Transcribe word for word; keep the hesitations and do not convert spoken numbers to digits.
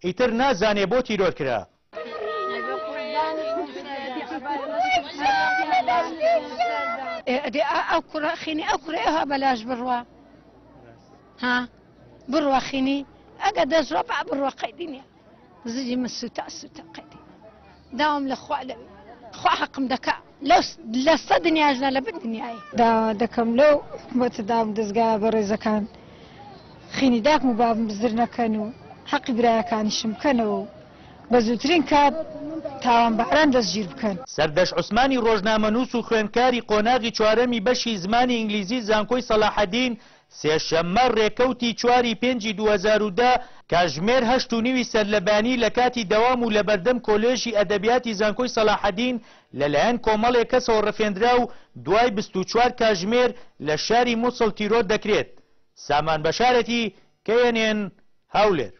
ئیتر نازانێ بۆ تیرۆر کرا. ئەو کوڕە خینی ئەو کوڕە ئەوها بەلاش بڕوا، ها بڕوا خینی ئەگە دەستڕۆ با بڕوا قەیدی نییە. زجی من سوتا سوتا قەیدی داوام لە خوا لەوێ خوا حەقم دەکا لە سەد دنیاژنا لە بن دنیایی. داوا دەکەم لەو حکومەتە داوم دەستگا بەڕێزەکان خینی داکم و بابم بزر نەکەن و حەقی برایەکانیشم بکەنەوە و بە زووترین کات تاوانباران دەستگیر بکەن. سەردەش عوسمانی ڕۆژنامەنووس و خوێندکاری قۆناغی چوارەمی بەشی زمانی ئینگلیزی زانکۆی سەلاحەدین سێشەممە ڕێکەوتی چواری پێنجی دوو هەزار و دە کاژمێر هەشت و نیوی سەرلەبانی لە کاتی دەوام و لەبەردەم کۆلێژی ئەدەبیاتی زانکۆی سەلاحەدین لەلایەن کۆمەڵێک کەسەوە ڕفێندرا و دوای بیست و چوار کاژمێر لە شاری موسڵ تیرۆر دەکرێت. سامان بەشارەتی، K N N، هەولێر.